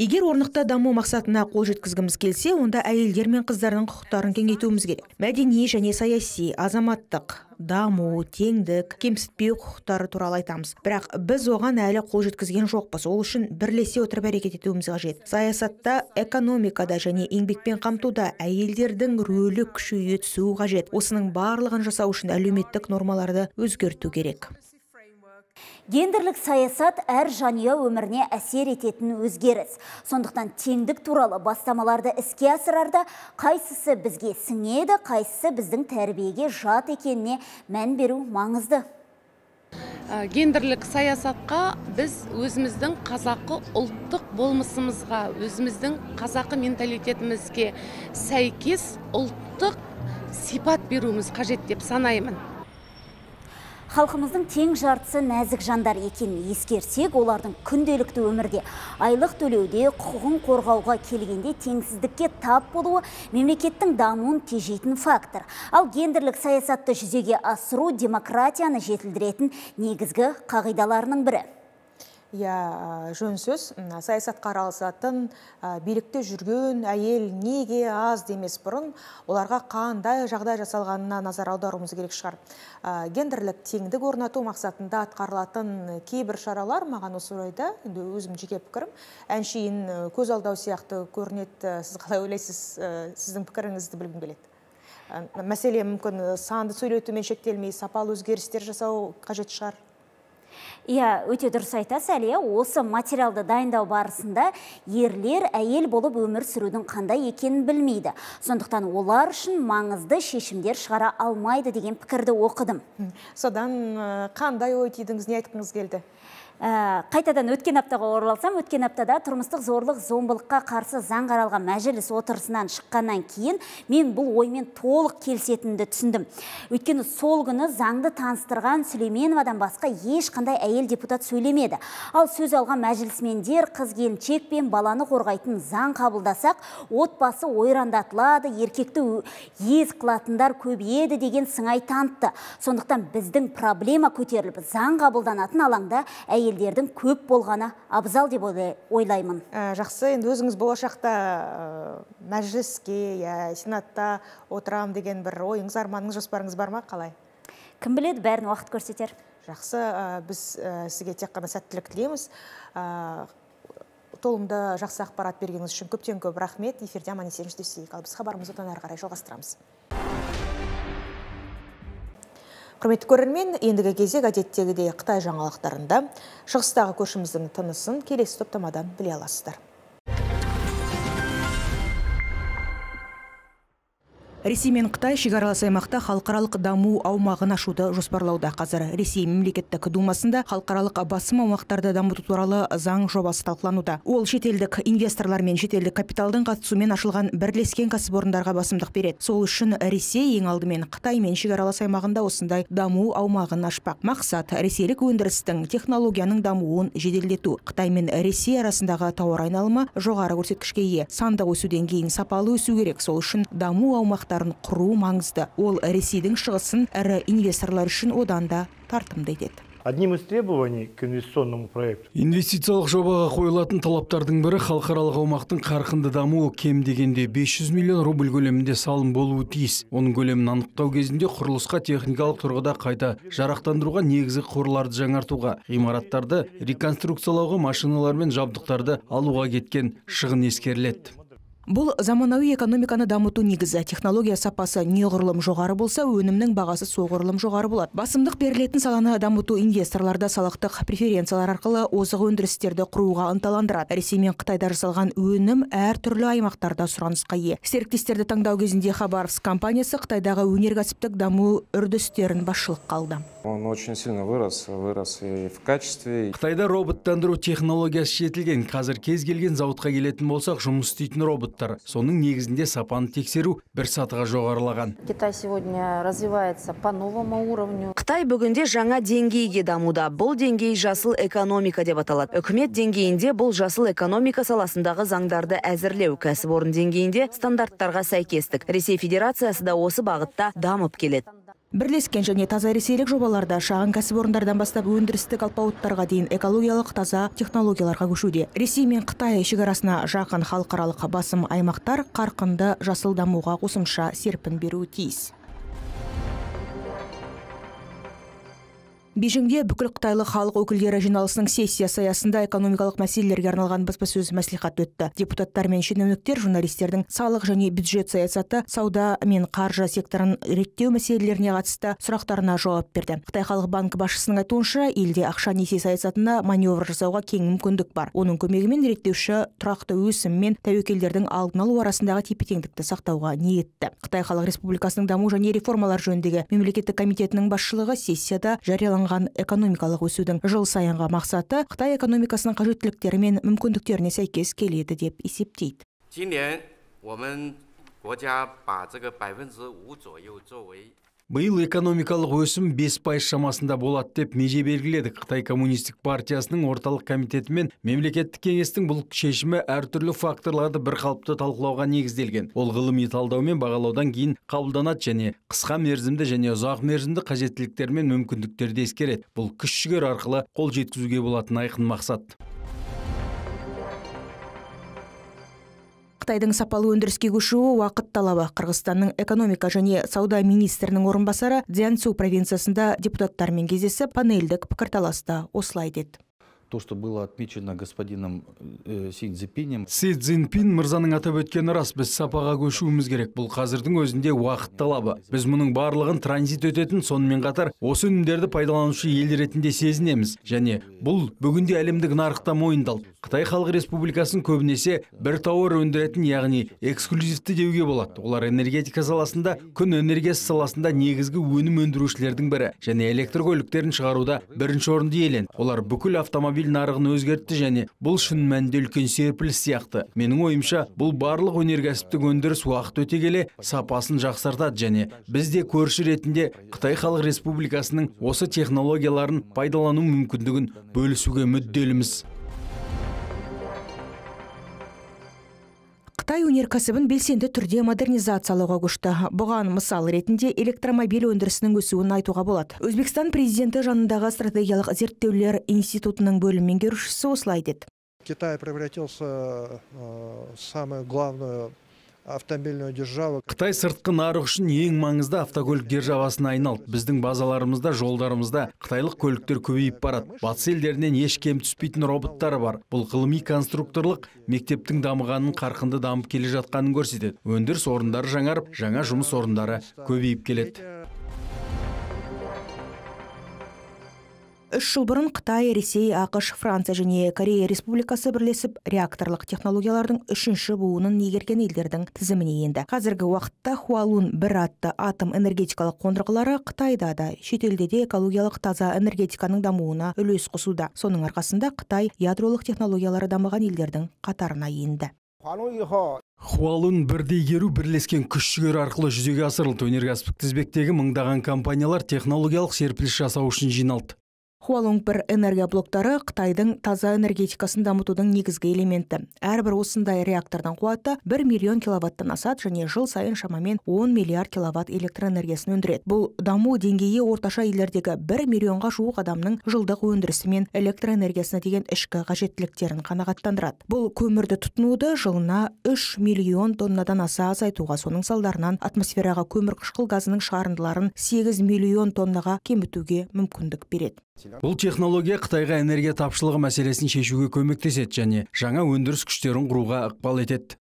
Speaker 1: Егер орнықты даму мақсатына қол жеткізгіміз келсе, онда әйелдер мен қыздардың құқықтарын кеңейтуіміз керек. Мәдени және саяси, азаматтық, даму, теңдік, кемсітпеу құқықтары туралы айтамыз. Бірақ біз оған әлі қол жеткізген жоқпыз. Ол үшін бірлесе отырып әрекет етуіміз қажет. Саясатта, экономикада және еңбекпен қамтуда әйелдердің рөлі күшейе түсуі қажет. Осының барлығын жасау үшін әлеуметтік нормаларды өзгерту керек.
Speaker 8: Гендерлік саясат әр жанұя өміріне әсер ететін өзгеріс. Сондықтан теңдік туралы бастамаларды іске асырарда қайсысы бізге сіңеді, қайсысы біздің тәрбиеге жат екеніне мән беру маңызды.
Speaker 15: Гендерлік саясатқа біз өзіміздің қазақы ұлттық болмысымызға, өзіміздің қазақы менталитетімізге сәйкес ұлттық сипат беруіміз қажет деп санаймын.
Speaker 8: Халқымыздың тең жартысы нәзік жандар екенін ескерсек, олардың күнделікті өмірде айлық төлеуде, құқығын қорғауға келгенде теңсіздікке тап болуы мемлекеттің дамуын тежейтін фактор. Ал гендерлік саясатты жүзеге асыру демократияны жетілдіретін негізгі қағидаларының бірі.
Speaker 1: Я, жөн сөз, саясатқа араласатын билікте жүрген әйел неге аз демес бұрын, оларға қандай жағдай жасалғанына назар аударуымыз керек шығар. Гендерлік теңдік орнату мақсатында атқарылатын кейбір шаралар маған осы орайда, өзім жеке пікірім, әншейін көз алдау сияқты көрінеді. Сіз қалай ойлайсыз, сіздің пікіріңізді білгім келеді. Мәселе мүмкін санды сөйлетумен шектелмей, сапалы өзгерістер жасау қажет шығар.
Speaker 8: Иә, өте дұрыс айтасыз, Әлия. Осы материалды дайындау барысында ерлер әйел болып өмір сүрудің қандай екенін білмейді. Сондықтан олар үшін маңызды шешімдер шығара алмайды деген пікірді оқыдым.
Speaker 1: Содан қандай ой түйдіңіз, не айтқыңыз келді?
Speaker 8: Қайтадан өткен аптаға оралсам, өткен аптада тұрмыстық зорлық зомбылыққа қарсы заң қаралған мәжіліс отырысынан шыққаннан кейін мен бұл оймен толық келісетінімді түсіндім. Өйткені сол күні заңды таныстырған Сүлейменовадан басқа ешқандай әйел депутат сөйлемеді. Ал сөз алған мәжілісмендер қыз-келіншек пен баланы қорғайтын заң қабылдасақ, отбасы ойрандатылады, еркекті ез қылатындар көбейеді деген сыңай танытты. Сондықтан біздің проблема көтеріліп, заң қабылданатын алаңда әйел елдердің көп болғаны абзал деп ойлаймын.
Speaker 1: Жақсы, енді өзіңіз болашақта мәжіліске, сенатта отырам деген бір ойыңыз, арманыңыз, жоспарыңыз бар ма, қалай?
Speaker 8: Кім біледі, бәрін уақыт көрсетер.
Speaker 1: Жақсы, біз сізге тек қана сәттілік тілейміз. Толымды жақсы ақпарат бергеніңіз үшін көптен көп рахмет. Эфирде аман есен жүздесейік. Ал біз хабарымызды одан әрі қарай жалғастырамыз. Құрметті көрермен, ендігі кезек әдеттегідей Қытай жаңалықтарында шығыстағы көршіміздің тынысын келесі топтамадан біле аласыздар. Ресей мен Қытай шекаралас аймақта халықаралық даму аумағын ашуды жоспарлауда. Қазір Ресей мемлекеттік думасында халықаралық басым аумақтарды дамыту туралы заң жобасы талқылануда. Ол шетелдік инвесторлар мен шетелдік капиталдың қатысуымен ашылған бірлескен кәсіпорындарға басымдық береді. Сол үшін Ресей ең алдымен Қытай мен шекаралас аймағында осындай даму аумағын ашпақ. Мақсат ресейлік өндірістің технологияның дамуын жеделдету. Қытай мен Ресей арасындағы тауар айналымы жоғары көрсеткішке ие. Сандық өсуден кейін сапалы өсу керек. Сол үшін даму аумақтарын құру маңызды. Ол Ресейдің шығысын ірі инвесторлар үшін одан да тартымды етеді.
Speaker 16: Одним из требований к инвестиционному проекту.
Speaker 4: Инвестициялық жобаға қойылатын талаптардың бірі халықаралық аумақтың қарқынды дамуы кем дегенде бес жүз миллион рубль көлемінде салым болуы тиіс. Оның көлемін анықтау кезінде құрылысқа техникалық тұрғыда қайта жарақтандыруға, негізгі қорларды жаңартуға, ғимараттарды реконструкциялауға, машиналар мен жабдықтарды алуға кеткен шығын ескеріледі.
Speaker 1: Бұл заманауи экономиканы дамыту негізі. Технология сапасы неғұрлым жоғары болса, өнімнің бағасы соғұрлым жоғары болады. Басымдық берілетін саланы дамыту инвесторларда салықтық преференциялар арқылы озық өндірістерді құруға ынталандырады. Ресей мен Қытайда жасалған өнім әр түрлі аймақтарда сұранысқа ие. Серіктестерді таңдау кезінде Хабаровск компаниясы Қытайдағы өнеркәсіптік даму үрдістерін басшылыққа алды.
Speaker 17: Он очень сильно вырос, вырос и в качестве.
Speaker 4: Қытайда роботтандыру технологиясы жетілген. Қазір кез келген зауытқа келетін болсақ, жұмыс істейтін роботтар. Соның негізінде сапаны тексеру бір сатыға жоғарылаған.
Speaker 18: Китай сегодня развивается по новому уровню.
Speaker 5: Қытай бүгінде жаңа деңгейге дамуда. Бұл деңгей жасыл экономика деп аталады. Үкімет деңгейінде бұл жасыл экономика саласындағы заңдарды әзірлеу, кәсіпорын деңгейінде стандарттарға сәйкестік. Ресей Федерациясы да осы бағытта дамып келеді.
Speaker 1: Бірлескен және таза ресейлік жобаларда шағын кәсіпорындардан бастап өндірістік алпауыттарға дейін экологиялық таза технологияларға көшуде. Ресей мен Қытай шекарасына жақын халықаралық басым аймақтар қарқынды жасыл дамуға қосымша серпін беруі тиіс. Бейжіңде бүкіл қытайлық халық өкілдері жиналысының сессиясы аясында экономикалық мәселелерге арналған баспасөз мәслихат өтті. Депутаттар мен шенеуніктер журналистердің салық және бюджет саясаты, сауда мен қаржы секторын реттеу мәселелеріне қатысты сұрақтарына жауап берді. Қытай халық банкі басшысының айтуынша, елде ақша несие саясатына маневр жасауға кең мүмкіндік бар. Оның көмегімен реттеуші тұрақты өсім мен тәуекелдердің алдын алу арасындағы тепе-теңдікті сақтауға ниетті. Қытай халық республикасының даму және реформалар жөніндегі мемлекеттік комитетінің басшылығы сессияда жарияланған экономикалық өсудің жыл сайынғы мақсаты Қытай экономикасының қажеттіліктері мен мүмкіндіктеріне сәйкес келеді деп есептейді.
Speaker 4: Биыл экономикалық өсім бес пайыз шамасында болады деп меже белгіледі. Қытай коммунистік партиясының орталық комитеті мен мемлекеттік кеңестің бұл шешімі әртүрлі факторларды бір қалыпты талқылауға негізделген. Ол ғылыми талдау мен бағалаудан кейін қабылданады және қысқа мерзімді және ұзақ мерзімді қажеттіліктер мен мүмкіндіктерді ескереді. Бұл күш-жігер арқылы қол жеткізуге болатын айқын мақсат.
Speaker 1: Қытайдың сапалы өндіріске көшуі уақыт талабы. Қырғызстанның экономика және сауда министрінің орынбасары Цзянцу провинциясында депутаттармен кездесіп, панельдік пікірталаста осылай деді.
Speaker 19: То, что было отмечено господином э, Си Цзиньпинем.
Speaker 4: Си Цзиньпин мырзаның атап өткені рас, біз сапаға көшуіміз керек. Бұл қазірдің өзінде уақыт талабы. Біз мұның барлығын транзит өтетін, сонымен қатар осы өнімдерді пайдаланушы ел ретінде сезінеміз. Және бұл бүгінде әлемдік нарықта мойындалды. Қытай халық республикасын көбінесе бір тауар өндіретін, яғни эксклюзивті деуге болады. Олар энергетика саласында, күн энергиясы саласында негізгі өнім өндірушілердің бірі және электр көліктерін шығаруда бірінші орынды иеленді. Олар бүкіл автомобиль нарығын өзгертті және бұл шын мәнінде үлкен серпіліс сияқты. Менің ойымша, бұл барлық өнеркәсіптік өндіріс уақыт өте келе сапасын жақсартады және біз де көрші ретінде Қытай халық республикасының осы технологияларын пайдалану мүмкіндігін бөлісуге мүдделіміз.
Speaker 1: Қытай өнеркәсібін белсенді түрде модернизациялауға көшті. Бұған мысал ретінде электромобиль өндірісінің өсуін айтуға болады. Өзбекстан президенті жанындағы стратегиялық зерттеулер институтының бөлім меңгерушісі осылай деді.
Speaker 20: Китай превратился в самую главную автомобильную державу.
Speaker 4: Қытай сыртқы нарық үшін ең маңызды автокөлік державасына айналды. Біздің базаларымызда, жолдарымызда қытайлық көліктер көбейіп барады. Батыс елдерінен еш кем түспейтін роботтары бар. Бұл ғылыми конструкторлық мектептің дамығанын, қарқынды дамып келе жатқанын көрсетеді. Өндіріс орындары жаңарып, жаңа жұмыс орындары көбейіп келеді.
Speaker 1: Үш жыл бұрын Қытай, Ресей, ақш, Франция және Корея республикасы бірлесіп реакторлық технологиялардың үшінші буынын игерген елдердің тізіміне енді. Қазіргі уақытта Хуалун бір атты атом энергетикалық қондырғылары Қытайда да, шетелде де экологиялық таза энергетиканың дамуына үлес қосуда. Соның арқасында Қытай ядролық технологиялары дамыған елдердің қатарына енді.
Speaker 4: Хуалун бірдей игеру бірлескен күш-жігер арқылы жүзеге асырылды. Өнеркәсіптік тізбектегі мыңдаған компаниялар технологиялық серпіліс жасау үшін жиналды.
Speaker 1: Хуалонгпер энергия блоктары Қытайдың таза энергетикасын дамытудың негізгі элементі. Әрбір осындай реактордың қуаты бір миллион киловаттан асады және жыл сайын шамамен он миллиард киловатт электр энергиясын өндіреді. Бұл даму деңгейі орташа елдердегі бір миллионға жуық адамның жылдық өндірісі мен электр энергиясына деген ішкі қажеттіліктерін қанағаттандырады. Бұл көмірді тұтынуды жылына үш миллион тоннадан аса азайтуға, соның салдарынан атмосфераға көмір қышқыл газының шығарындыларын сегіз миллион тоннаға кемітуге мүмкіндік береді.
Speaker 4: Бұл технология Қытайға энергия тапшылығы мәселесін шешуге көмектеседі және жаңа өндіріс күштерін құруға ықпал етеді.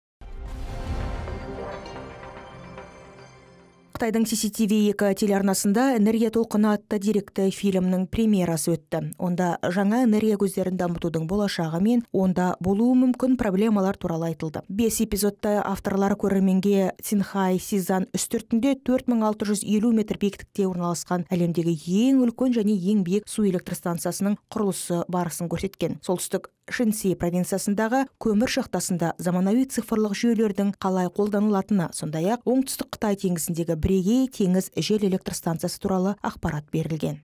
Speaker 1: Қытайдың си си ти ви екі телеарнасында «Энергия толқыны» атты деректі фильмнің премьерасы өтті. Онда жаңа энергия көздерін дамытудың болашағы мен онда болуы мүмкін проблемалар туралы айтылды. Бес эпизодта авторлар көрерменге Цинхай Сизан үстіртінде төрт мың алты жүз елу метр биіктікте орналасқан әлемдегі ең үлкен және ең биік су электр станциясының құрылысы барысын көрсеткен. Солтүстік Шэньси провинциясындағы көмір шахтасында заманауи цифрлық жүйелердің қалай қолданылатыны, сондай-ақ оңтүстік Қытай теңізіндегі бірегей теңіз жел электр станциясы туралы ақпарат берілген.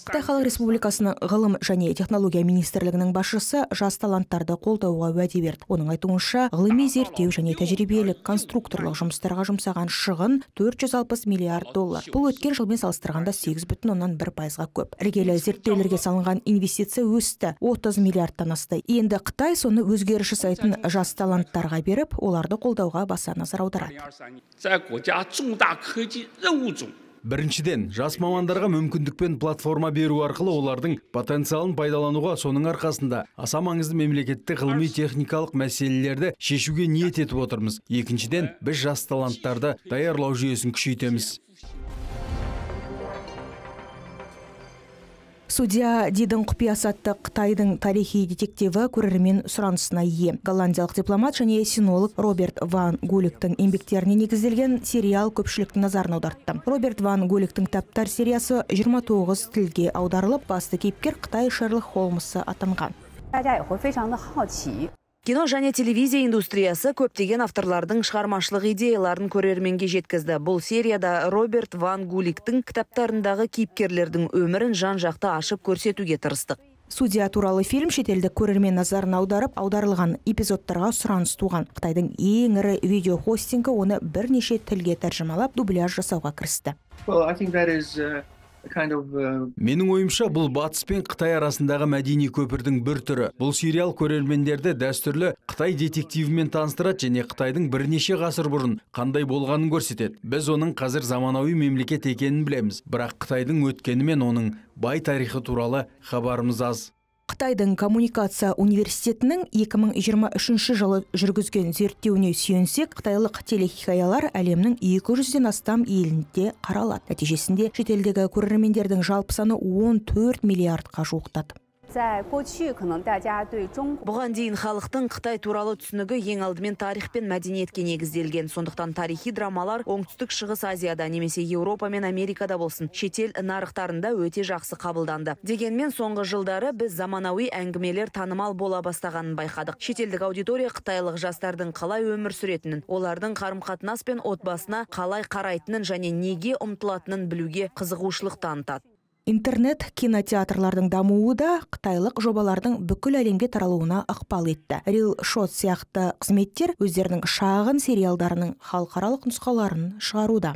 Speaker 1: Қытай Халық Республикасының ғылым және технология министрлігінің басшысы жас таланттарды қолдауға уәде берді. Оның айтуынша, ғылыми зерттеу және тәжірибелік конструкторлық жұмыстарға жұмсаған шығын төрт жүз алпыс миллиард доллар. Бұл өткен жылмен салыстырғанда сегіз бүтін оннан бір пайызға көп. Іргелі зерттеулерге салынған инвестиция өсті, отыз миллиардтан асты. Енді Қытай соны өзгеріс жасайтын жас таланттарға беріп, оларды қолдауға баса назар аударады.
Speaker 4: Біріншіден, жас мамандарға мүмкіндікпен платформа беру арқылы олардың потенциалын пайдалануға, соның арқасында аса маңызды мемлекеттік ғылыми техникалық мәселелерді шешуге ниет етіп отырмыз. Екіншіден, біз жас таланттарды даярлау жүйесін күшейтеміз.
Speaker 1: Судья Дидің құпиясы атты Қытайдың тарихи детективі көрермен сұранысына ие. Голландиялық дипломат және синолог Роберт Ван Гуликтің еңбектеріне негізделген сериал көпшіліктің назарын аудартты. Роберт Ван Гуликтің кітаптар сериясы жиырма тоғыз тілге аударылып, басты кейіпкер Қытай Шерлок Холмсы атанған.
Speaker 5: Кино және телевизия индустриясы көптеген авторлардың шығармашылық идеяларын көрерменге жеткізді. Бұл серияда Роберт Ван Гуликтің кітаптарындағы кейіпкерлердің өмірін жан-жақты ашып көрсетуге тырыстық.
Speaker 1: Судья туралы фильм шетелдік көрермен назарын аударып, аударылған эпизодтарға сұраныс туған. Қытайдың ең ірі видеохостингі оны бірнеше тілге тәржімалап, дубляж жасауға кірісті.
Speaker 4: Менің ойымша, бұл Батыс пен Қытай арасындағы мәдени көпірдің бір түрі. Бұл сериал көрермендерді дәстүрлі Қытай детективімен таныстырады және Қытайдың бірнеше ғасыр бұрын қандай болғанын көрсетеді. Біз оның қазір заманауи мемлекет екенін білеміз, бірақ Қытайдың өткені мен оның бай тарихы туралы хабарымыз аз.
Speaker 1: Қытайдың коммуникация университетінің екі мың жиырма үшінші жылы жүргізген зерттеуіне сүйенсек, қытайлық телехикаялар әлемнің екі жүзден астам елінде қаралады. Нәтижесінде шетелдегі көрермендердің жалпы саны он төрт миллиардқа жуықтады.
Speaker 5: Бұған дейін халықтың Қытай туралы түсінігі ең алдымен тарих пен мәдениетке негізделген. Сондықтан тарихи драмалар оңтүстік шығыс Азияда немесе Еуропа мен Америкада болсын, шетел нарықтарында өте жақсы қабылданды. Дегенмен соңғы жылдары біз заманауи әңгімелер танымал бола бастағанын байқадық. Шетелдік аудитория қытайлық жастардың қалай өмір сүретінін, олардың қарым-қатынас пен отбасына қалай қарайтынын және неге ұмтылатынын білуге қызығушылық танытады.
Speaker 1: Интернет кинотеатрлардың дамуы да қытайлық жобалардың бүкіл әлемге таралуына ықпал етті. Real Shot сияқты қызметтер өздерінің шағын сериалдарының халықаралық нұсқаларын шығаруда.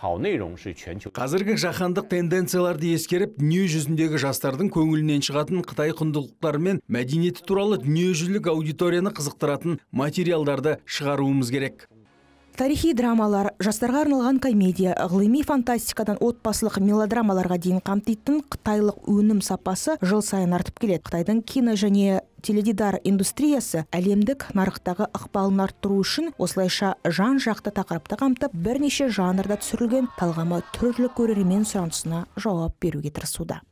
Speaker 4: Қазіргі жаһандық тенденцияларды ескеріп, дүние жүзіндегі жастардың көңілінен шығатын Қытай құндылықтары мен мәдениеті туралы дүниежүзілік аудиторияны қызықтыратын материалдарды шығаруымыз керек.
Speaker 1: Тарихи драмалар, жастарға арналған комедия, ғылыми фантастикадан отбасылық мелодрамаларға дейін қамтитын қытайлық өнім сапасы жыл сайын артып келеді. Қытайдың кино және теледидар индустриясы әлемдік нарықтағы ықпалын арттыру үшін осылайша жан-жақты тақырыпты қамтып, бірнеше жанрда түсірілген талғамы түрлі көрермен сұранысына жауап беруге тырысуда.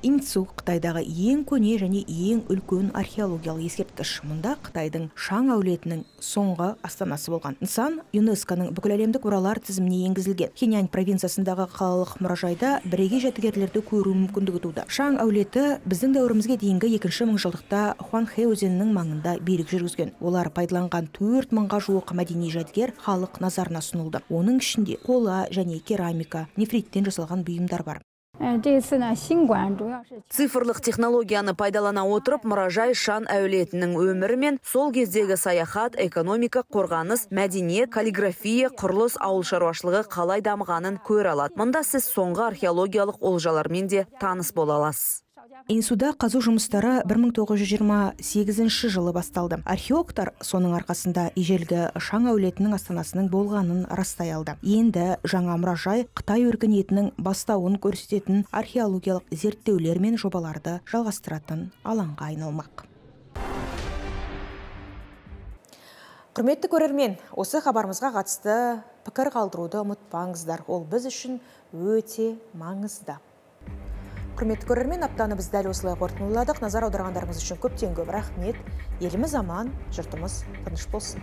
Speaker 1: Инцу Қытайдағы ең көне және ең үлкен археологиялық ескерткіш. Мұнда Қытайдың Шаң әулетінің соңғы астанасы болған. Нысан ЮНЕСКО-ның бүкіләлемдік мұралар тізіміне енгізілген. Хэнань провинциясындағы қалалық мұражайда бірегей жәдігерлерді көру мүмкіндігі туды. Шаң әулеті біздің дәуірімізге дейінгі екінші мыңжылдықта Хуанхэ өзенінің маңында билік жүргізген. Олар пайдаланған төрт мыңға жуық мәдени жәдігер халық назарына ұсынылды. Оның ішінде қола және керамика, нефриттен жасалған бұйымдар бар.
Speaker 5: Цифрлық технологияны пайдалана отырып, мұражай Шан әулетінің өмірі мен сол кездегі саяхат, экономика, қорғаныс, мәдениет, каллиграфия, құрылыс, ауыл шаруашылығы қалай дамығанын көре алады. Мұнда сіз соңғы археологиялық олжалармен де таныс бола аласыз.
Speaker 1: Инсуда қазу жұмыстары бір мың тоғыз жүз жиырма сегізінші жылы басталды. Археологтар соның арқасында ежелгі Шаң әулетінің астанасының болғанын растай алды. Енді жаңа мұражай Қытай өркениетінің бастауын көрсететін археологиялық зерттеулер мен жобаларды жалғастыратын алаңға айналмақ. Құрметті көрермен, осы хабарымызға қатысты пікір қалдыруды ұмытпаңыздар. Ол біз үшін өте маңызды. Құрметті көрермен, аптаны біз дәл осылай қорытындыладық. Назар аударғандарыңыз үшін көптен көп рахмет. Еліміз аман, жұртымыз тыныш болсын.